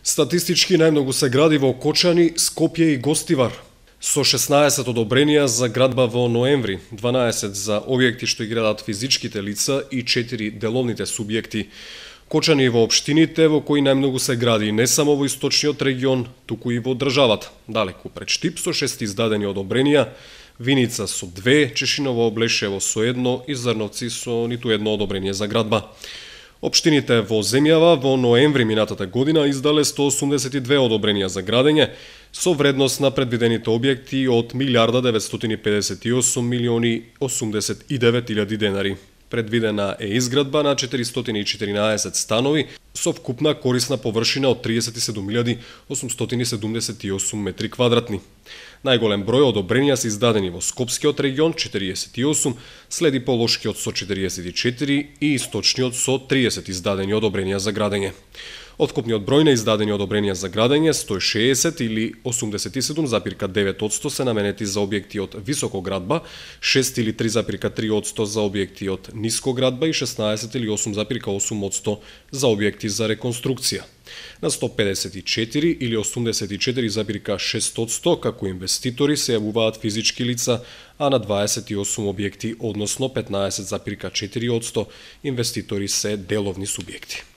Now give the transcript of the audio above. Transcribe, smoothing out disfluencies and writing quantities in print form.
Статистички најмногу се гради во Кочани, Скопје и Гостивар, со 16 одобренија за градба во ноември, 12 за објекти што ги градат физичките лица и 4 деловните субјекти. Кочани во општините во кои најмногу се гради не само во источниот регион, туку и во државата. Далеку пред Штип со 6 издадени одобренија, Виница со 2, Чешиново, Облешево со 1 и Зрновци со ниту едно одобрение за градба. Општините во земјава во ноември минатата година издале 182 одобренија за градење со вредност на предвидените објекти од 1.958.089.000 денари. Предвидена е изградба на 414 станови со вкупна корисна површина од 37.878 метри квадратни. Најголем број одобренија се издадени во Скопскиот регион 48, следи Полошкиот со 44 и Источниот со 30 издадени одобренија за градење. Од вкупниот број на издадени одобренија за градење, 160 или 87,9% се наменети за објекти од високоградба, 6 или 3,3% за објекти од нискоградба и 16 или 8,8% за објекти за реконструкција. На 154 или 84,6% како инвеститори се јавуваат физички лица, а на 28 објекти, односно 15,4% инвеститори се деловни субјекти.